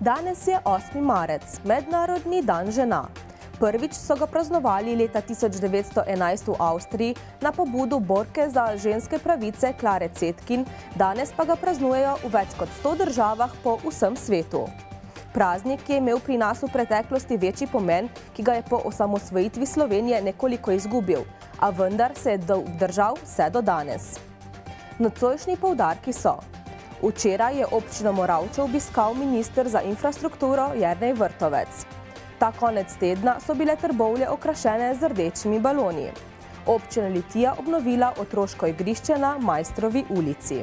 Danes je 8. marec, Mednarodni dan žena. Prvič so ga praznovali leta 1911 v Avstriji na pobudo borke za ženske pravice Klare Cetkin, danes pa ga praznujejo v več kot 100 državah po vsem svetu. Praznik je imel pri nas v preteklosti večji pomen, ki ga je po osamosvojitvi Slovenije nekoliko izgubil, a vendar se je držal vse do danes. Nocojšnji poudarki so: včeraj je občino Moravče obiskal minister za infrastrukturo Jernej Vrtovec. Ta konec tedna so bile Trbovlje okrašene z rdečimi baloni. Občina Litija obnovila otroško igrišče na Majstrovi ulici.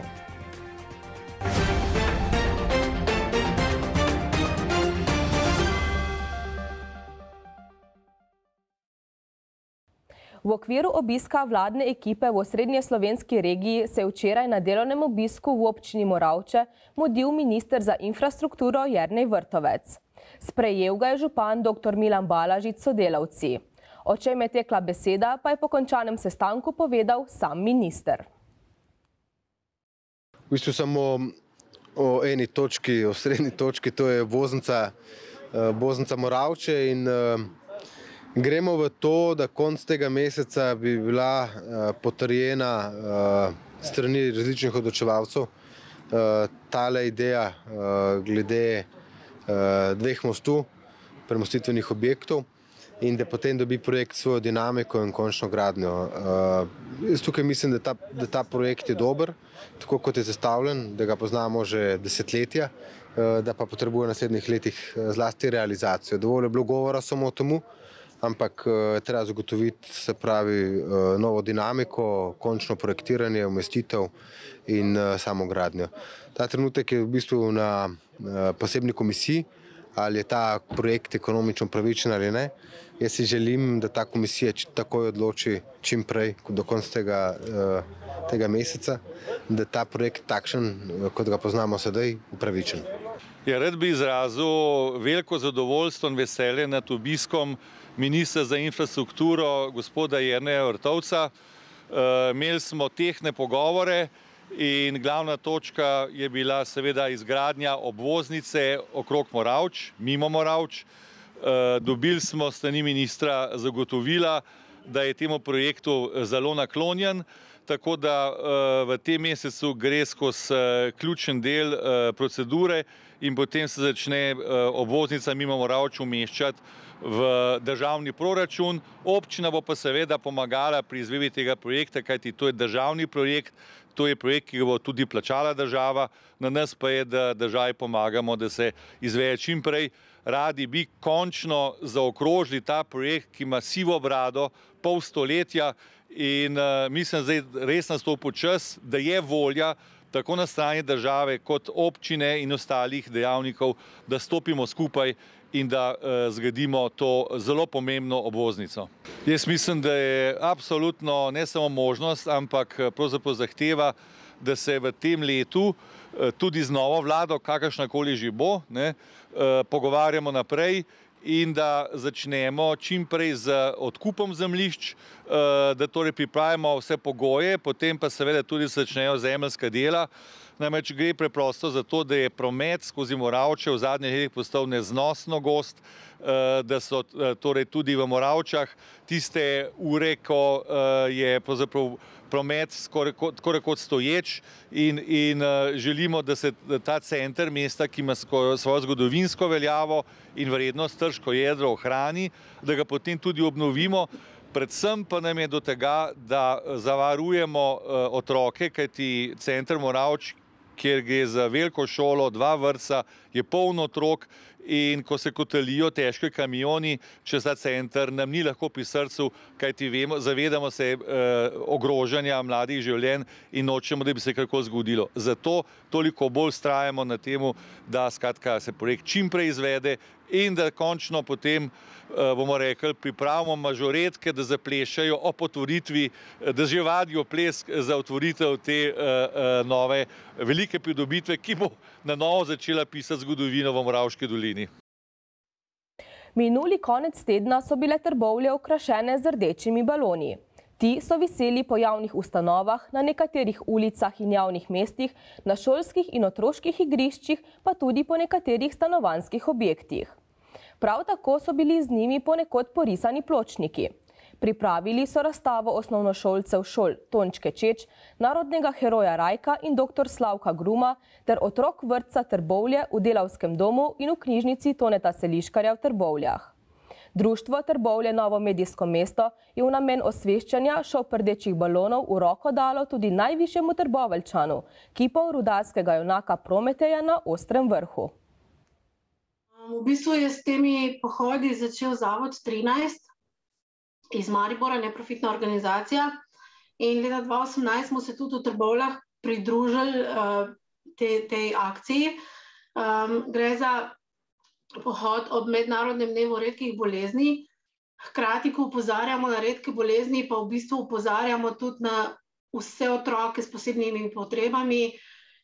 V okviru obiska vladne ekipe v osrednjeslovenski regiji se je včeraj na delovnem obisku v občini Moravče mudil minister za infrastrukturo Jernej Vrtovec. Sprejel ga je župan dr. Milan Balažič s sodelavci. O čem je tekla beseda, pa je po končanem sestanku povedal sam minister. V bistvu samo o eni točki, o srednji točki, to je obvoznica Moravče in gremo v to, da konec tega meseca bi bila potrjena strani različnih odločevalcev tale ideja glede dveh mostu, premostitvenih objektov, in da potem dobi projekt svojo dinamiko in končno gradnjo. Jaz tukaj mislim, da ta projekt je dober, tako kot je zastavljen, da ga poznamo že desetletja, da pa potrebuje v naslednjih letih zlasti realizacijo. Dovolj je bilo govora samo o temu, ampak treba zagotoviti, se pravi, novo dinamiko, končno projektiranje, umestitev in samo gradnjo. Ta trenutek je v bistvu na posebni komisiji, ali je ta projekt ekonomično pravičen ali ne. Jaz si želim, da ta komisija takoj odloči čim prej, do konca tega meseca, da ta projekt takšen, kot ga poznamo sedaj, upravičen. Rad bi izrazil veliko zadovoljstvo in veselje nad obiskom ministra za infrastrukturo, gospoda Jerneja Vrtovca. Imeli smo tehtne pogovore in glavna točka je bila seveda izgradnja obvoznice okrog Moravč, mimo Moravč. Dobili smo s strani ministra zagotovila, da je temu projektu zelo naklonjen, tako da v tem mesecu gre skozi ključen del procedure in potem se začne obvoznica mimo Moravč umeščati v državni proračun. Občina bo pa seveda pomagala pri izvedbi tega projekta, kajti to je državni projekt, to je projekt, ki ga bo tudi plačala država, na nas pa je, da državi pomagamo, da se izvede čim prej. Radi bi končno zaokrožili ta projekt, ki ima sivo brado, pol stoletja, in mislim, zdaj res nastopil čas, da je volja tako na strani države kot občine in ostalih dejavnikov, da stopimo skupaj in da zgradimo to zelo pomembno obvoznico. Jaz mislim, da je absolutno ne samo možnost, ampak pravzaprav zahteva, da se v tem letu tudi z novo vlado, kakršnakoli že bo, pogovarjamo naprej in da začnemo čim prej z odkupom zemljišč, da torej pripravimo vse pogoje, potem pa seveda tudi začnejo zemeljska dela. Namreč gre preprosto za to, da je promet skozi Moravče v zadnjih letih postal neznosno gost, da so torej tudi v Moravčah tiste ure, ko je pravzaprav promet skoraj kot stoječ in želimo, da se ta center mesta, ki ima svojo zgodovinsko veljavo in vrednost, Trško jedro, ohrani, da ga potem tudi obnovimo. Predvsem pa nam je do tega, da zavarujemo otroke, kajti center Moravč, kjer gre za veliko šolo, 2 vrtca, je polno otrok, in ko se kotalijo težki kamioni čez ta center, nam ni lahko pri srcu, kajti zavedamo se ogrožanja mladih življenj in nočemo, da bi se karkoli zgodilo. Zato toliko bolj vztrajamo na temu, da skratka se projekt čim prej izvede in da končno potem, bomo rekli, pripravimo mažoretke, da zaplešajo ob otvoritvi, da že vadijo ples za otvoritev te nove velike pridobitve, ki bo na novo začela pisati zgodovino v Moravški dolini. Minuli konec tedna so bile Trbovlje okrašene z rdečimi baloni. Ti so viseli po javnih ustanovah, na nekaterih ulicah in javnih mestih, na šolskih in otroških igriščih, pa tudi po nekaterih stanovanjskih objektih. Prav tako so bili z njimi ponekod porisani pločniki. Pripravili so razstavo osnovnošolcev šol Tončke Čeč, narodnega heroja Rajka in dr. Slavka Gruma ter otrok vrtca Trbovlje v Delavskem domu in v knjižnici Toneta Seliškarja v Trbovljah. Društvo Trbovlje Novo medijsko mesto je v namen osveščanja šop rdečih balonov v roko dalo tudi najvišjemu Trboveljčanu, kipov rudarskega junaka Prometeja na Ostrem vrhu. V bistvu je s temi pohodi začel Zavod 13 iz Maribora, neprofitna organizacija, in leta 2018 smo se tudi v Trbovljah pridružili tej akciji. Gre za pohod ob Mednarodnem dnevu redkih bolezni. Hkrati, ko opozarjamo na redke bolezni, pa v bistvu opozarjamo tudi na vse otroke s posebnimi potrebami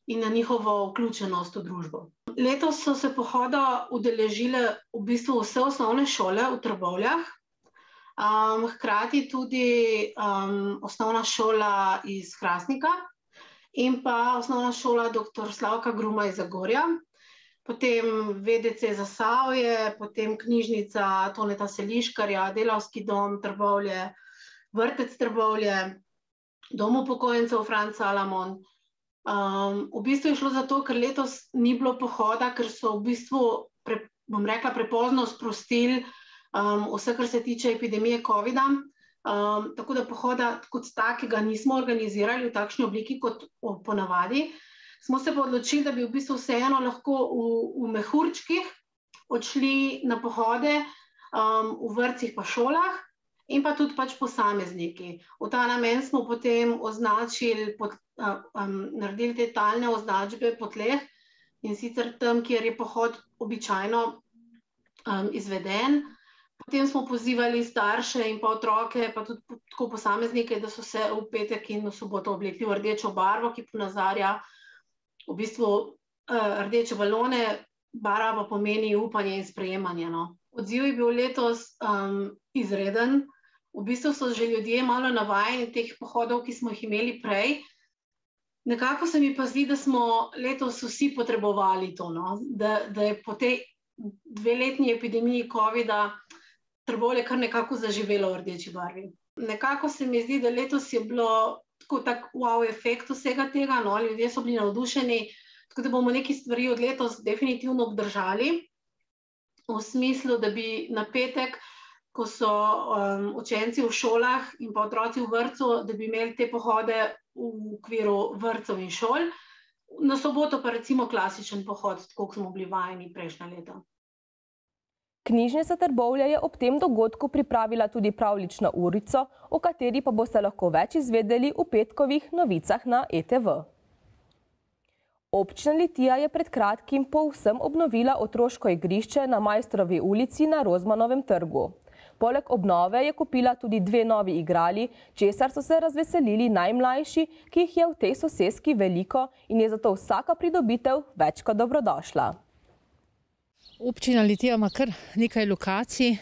in na njihovo vključenost v družbo. Letos so se pohoda udeležile v bistvu vse osnovne šole v Trbovljah, hkrati tudi osnovna šola iz Hrastnika in pa osnovna šola dr. Slavka Gruma iz Zagorja, potem VDC Zasavje, potem knjižnica Toneta Seliškarja, Delavski dom Trbovlje, vrtec Trbovlje, dom upokojencev Franz Salamon. V bistvu je šlo za to, ker letos ni bilo pohoda, ker so v bistvu, bom rekla, prepozno sprostili vse, kar se tiče epidemije covida, tako da pohoda kot takega nismo organizirali v takšni obliki kot ponavadi. Smo se pa odločili, da bi v bistvu vseeno lahko v mehurčkih odšli na pohode v vrtcih pa šolah in pa tudi pač posamezniki. V ta namen smo potem označili, naredili te talne označbe po tleh, in sicer tam, kjer je pohod običajno izveden. Potem smo pozivali starše in pa otroke, pa tudi tako posameznike, da so se v petek in v soboto oblekli v rdečo barvo, ki ponazarja v bistvu rdeče balone, barva pa pomeni upanje in sprejemanje. Odziv je bil letos izreden. V bistvu so že ljudje malo navajeni teh pohodov, ki smo jih imeli prej. Nekako se mi pa zdi, da smo letos vsi potrebovali to, da je po tej dveletni epidemiji covida Trbovlje kar nekako zaživelo v rdeči barvi. Nekako se mi zdi, da letos je bilo tak wow efekt vsega tega, ljudje so bili navdušeni, tako da bomo neki stvari od letos definitivno obdržali, v smislu, da bi na petek, ko so učenci v šolah in pa otroci v vrtcu, da bi imeli te pohode v okviru vrtcev in šol, na soboto pa recimo klasičen pohod, tako kot smo bili vajeni prejšnja leta. Knjižnica Trbovlje je ob tem dogodku pripravila tudi pravljično urico, o kateri pa boste lahko več izvedeli v petkovih novicah na ETV. Občina Litija je pred kratkim povsem obnovila otroško igrišče na Majstrovi ulici na Rozmanovem trgu. Poleg obnove je kupila tudi 2 novi igrali, česar so se razveselili najmlajši, ki jih je v tej soseski veliko in je zato vsaka pridobitev več kot dobrodošla. Občina Litija ima kar nekaj lokacij,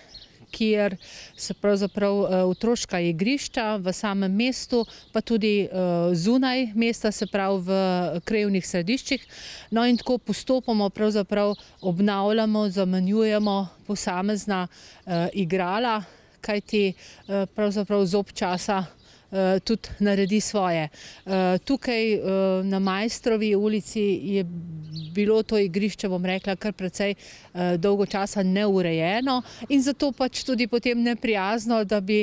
kjer so pravzaprav otroška igrišča v samem mestu, pa tudi zunaj mesta, se pravi v krajevnih središčih. No in tako postopoma pravzaprav obnavljamo, zamenjujemo posamezna igrala, kajti pravzaprav zob časa tudi naredi svoje. Tukaj na Majstrovi ulici je bilo to igrišče, bom rekla, kar precej dolgo časa neurejeno in zato pač tudi potem neprijazno, da bi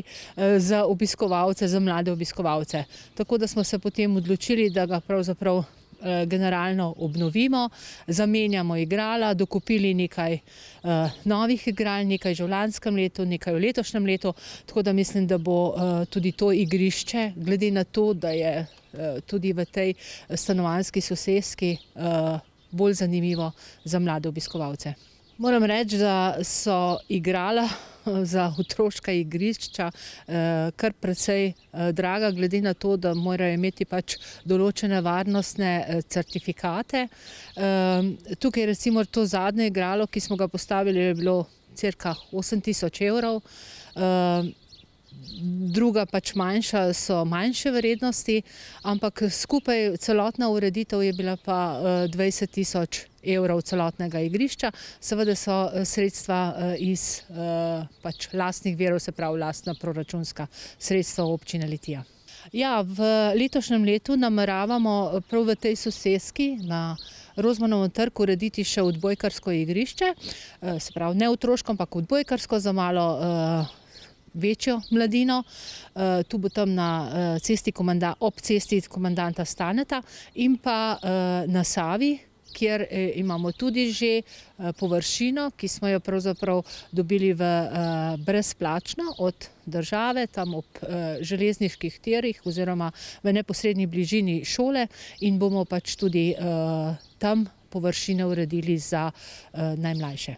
za obiskovalce, za mlade obiskovalce. Tako da smo se potem odločili, da ga pravzaprav generalno obnovimo, zamenjamo igrala, dokupili nekaj novih igral, nekaj že v lanskem letu, nekaj v letošnjem letu, tako da mislim, da bo tudi to igrišče, glede na to, da je tudi v tej stanovanjski soseski bolj zanimivo za mlade obiskovalce. Moram reči, da so igrala za otroška igrišča kar precej draga, glede na to, da morajo imeti pač določene varnostne certifikate. Tukaj recimo to zadnje igralo, ki smo ga postavili, je bilo cirka 8 tisoč evrov. druga pač manjša so manjše vrednosti, ampak skupaj celotna ureditev je bila pa 20 000 evrov celotnega igrišča. Seveda so sredstva iz pač lastnih virov, se pravi lastna proračunska sredstva občine Litija. Ja, v letošnjem letu nameravamo prav v tej soseski na Rozmanovem trgu urediti še odbojkarsko igrišče, se pravi ne otroško, ampak odbojkarsko za malo večjo mladino. Tu bo tam ob cesti komandanta Staneta in pa na Savi, kjer imamo tudi že površino, ki smo jo pravzaprav dobili brezplačno od države, tam ob železniških tirih oziroma v neposrednji bližini šole, in bomo pač tudi tam površine uredili za najmlajše.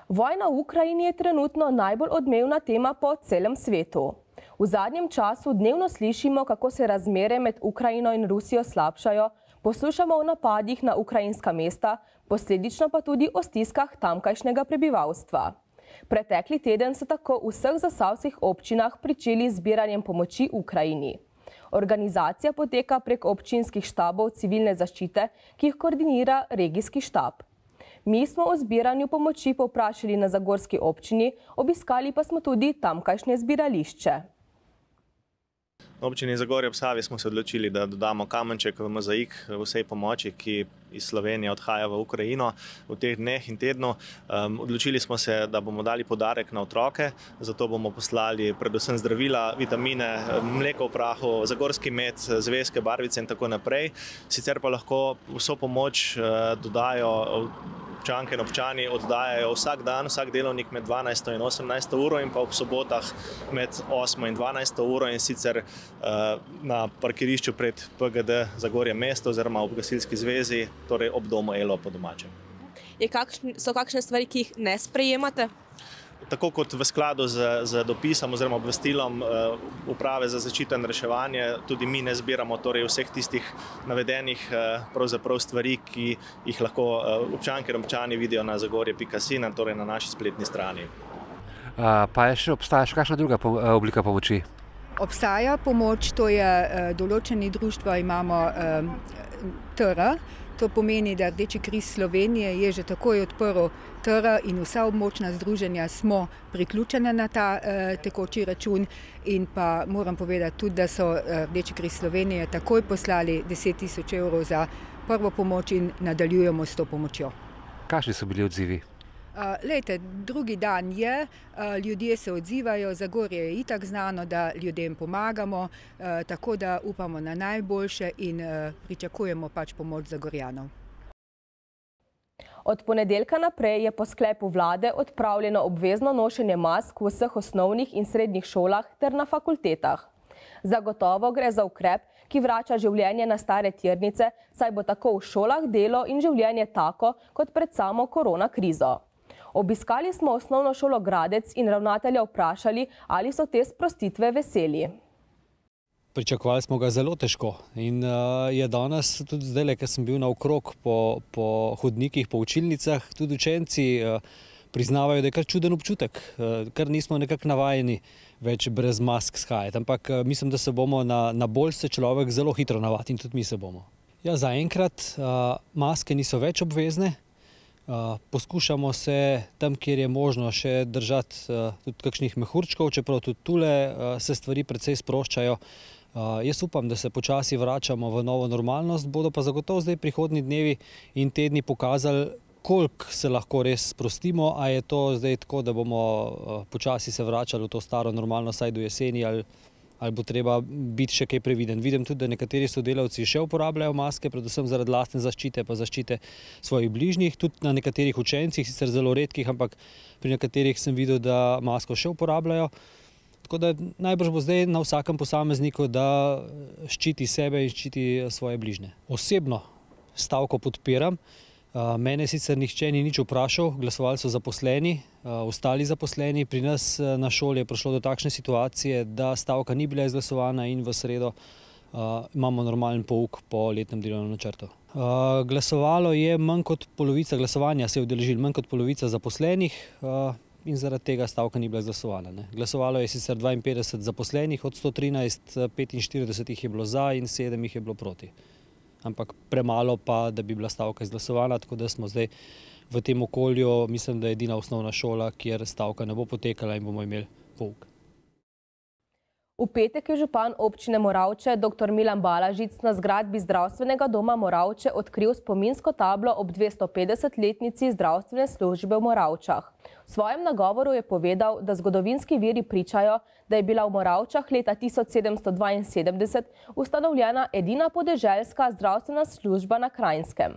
Vojna v Ukrajini je trenutno najbolj odmevna tema po celem svetu. V zadnjem času dnevno slišimo, kako se razmere med Ukrajino in Rusijo slabšajo, poslušamo o napadih na ukrajinska mesta, posledično pa tudi o stiskah tamkajšnjega prebivalstva. Pretekli teden so tako v vseh zasavskih občinah pričeli z zbiranjem pomoči Ukrajini. Organizacija poteka prek občinskih štabov civilne zaščite, ki jih koordinira regijski štab. Mi smo o zbiranju pomoči povprašali na zagorski občini, obiskali pa smo tudi tamkajšnje zbirališče. Na občini Zagorje ob Savi smo se odločili, da dodamo kamenček v mozaik vsej pomoči, ki iz Slovenije odhaja v Ukrajino v teh dneh in tednu. Odločili smo se, da bomo dali podarek na otroke, zato bomo poslali predvsem zdravila, vitamine, mleko v prahu, zagorski med, zvezke, barvice in tako naprej. Sicer pa lahko vso pomoč dodajo občanke in občani, oddajajo vsak dan, vsak delovnik med 12. in 18. uro in pa ob sobotah med 8. in 12. uro, in sicer na parkirišču pred PGD Zagorje mesto oziroma ob gasilski zvezi, torej ob domu Elo po domačem. So kakšne stvari, ki jih ne sprejemate? Tako kot v skladu z dopisom oziroma obvestilom Uprave za zaščito in reševanje, tudi mi ne zbiramo torej vseh tistih navedenih pravzaprav stvari, ki jih lahko občanke in občani vidijo na zagorje.si, torej na naši spletni strani. Pa je še obstaja še kakšna druga oblika pomoči? Obstaja pomoč, to je določeni društva imamo TR. To pomeni, da Rdeči križ Slovenije je že takoj odprl TR in vsa območna združenja smo priključene na ta tekoči račun, in pa moram povedati tudi, da so Rdeči križ Slovenije takoj poslali 10 000 evrov za prvo pomoč in nadaljujemo s to pomočjo. Kakšni so bili odzivi? Lejte, drugi dan je, ljudje se odzivajo, Zagorje je itak znano, da ljudem pomagamo, tako da upamo na najboljše in pričakujemo pač pomoč Zagorjanov. Od ponedeljka naprej je po sklepu vlade odpravljeno obvezno nošenje mask v vseh osnovnih in srednjih šolah ter na fakultetah. Zagotovo gre za ukrep, ki vrača življenje na stare tirnice, saj bo tako v šolah delo in življenje tako kot pred samo korona krizo. Obiskali smo osnovno šolo Gradec in ravnatelja vprašali, ali so te sprostitve veseli. Pričakovali smo ga zelo težko in je danes, tudi zdaj, ker sem bil naokrog po hodnikih, po učilnicah, tudi učenci priznavajo, da je kar čuden občutek, ker nismo nekako navajeni več brez mask shajati. Ampak mislim, da se bomo na bolj se človek zelo hitro navadi in tudi mi se bomo. Ja, zaenkrat maske niso več obvezne. Poskušamo se tam, kjer je možno, še držati tudi kakšnih mehurčkov, čeprav tudi tule se stvari precej sproščajo. Jaz upam, da se počasi vračamo v novo normalnost, bodo pa zagotovo zdaj prihodnji dnevi in tedni pokazali, koliko se lahko res sprostimo, a je to zdaj tako, da bomo počasi se vračali v to staro normalnost, saj do jeseni, ali bo treba biti še kaj previden. Vidim tudi, da nekateri sodelavci še uporabljajo maske, predvsem zaradi lastne zaščite, pa zaščite svojih bližnjih, tudi na nekaterih učencih, sicer zelo redkih, ampak pri nekaterih sem videl, da masko še uporabljajo. Tako da najbrž bo zdaj na vsakem posamezniku, da ščiti sebe in ščiti svoje bližnje. Osebno stavko podpiram. Mene sicer nihče ni nič vprašal, glasovali so zaposleni, ostali zaposleni. Pri nas na šoli je prišlo do takšne situacije, da stavka ni bila izglasovana in v sredo imamo normalen pouk po letnem delovnem načrtu. Glasovalo je manj kot polovica, glasovanja se je udeležilo manj kot polovica zaposlenih. in zaradi tega stavka ni bila izglasovana. Glasovalo je sicer 52 zaposlenih od 113, 45 jih je bilo za in 7 jih je bilo proti. Ampak premalo pa, da bi bila stavka izglasovana, tako da smo zdaj v tem okolju, mislim, da je edina osnovna šola, kjer stavka ne bo potekala in bomo imeli pouk. V petek je župan občine Moravče dr. Milan Balažic na zgradbi zdravstvenega doma Moravče odkril spominsko tablo ob 250-letnici zdravstvene službe v Moravčah. V svojem nagovoru je povedal, da zgodovinski viri pričajo, da je bila v Moravčah leta 1772 ustanovljena edina podeželska zdravstvena služba na Kranjskem.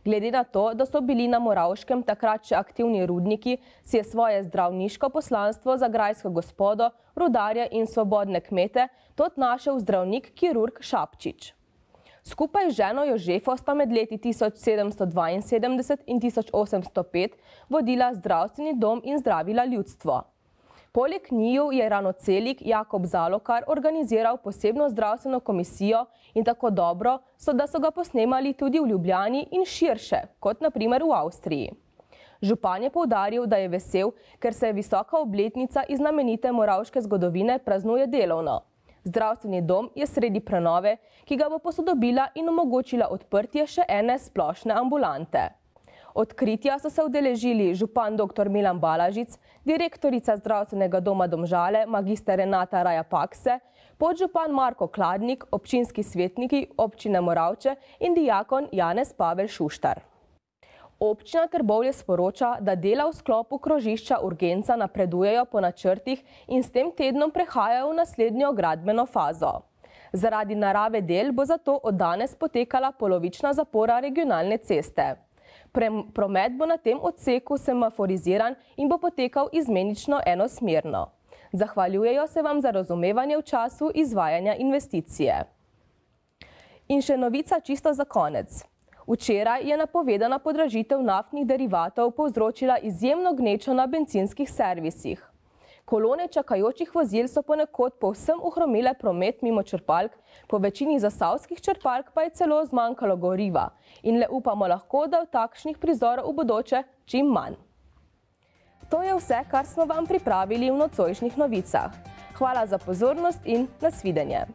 Glede na to, da so bili na Moravškem takrat še aktivni rudniki, si je svoje zdravniško poslanstvo za grajsko gospodo, rudarje in svobodne kmete tot našel zdravnik kirurg Šapčič. Skupaj z ženo Jožefo sta med leti 1772 in 1805 vodila zdravstveni dom in zdravila ljudstvo. Poleg njiju je ranocelik Jakob Zalokar organiziral posebno zdravstveno komisijo in tako dobro, da so ga posnemali tudi v Ljubljani in širše, kot na primer v Avstriji. Župan je poudaril, da je vesel, ker se visoka obletnica iz znamenite moravške zgodovine praznuje delovno. Zdravstveni dom je sredi prenove, ki ga bo posodobila in omogočila odprtje še ene splošne ambulante. Odkritja so se udeležili župan dr. Milan Balažic, direktorica zdravstvenega doma Domžale, magister Renata Raja Pakse, podžupan Marko Kladnik, občinski svetniki občine Moravče in dijakon Janez Pavel Šuštar. Občina Trbovlje sporoča, da dela v sklopu krožišča urgenca napredujejo po načrtih in s tem tednom prehajajo v naslednjo gradbeno fazo. Zaradi narave del bo zato od danes potekala polovična zapora regionalne ceste. Promet bo na tem odseku semaforiziran in bo potekal izmenično enosmerno. Zahvaljujejo se vam za razumevanje v času izvajanja investicije. In še novica čisto za konec. Včeraj je napovedana podražitev naftnih derivatov povzročila izjemno gnečo na bencinskih servisih. Kolone čakajočih vozil so ponekod povsem ohromile promet mimo črpalk, po večini zasavskih črpalk pa je celo zmanjkalo goriva in le upamo lahko, da v takšnih prizorov v bodoče čim manj. To je vse, kar smo vam pripravili v nocojšnjih novicah. Hvala za pozornost in nasvidenje.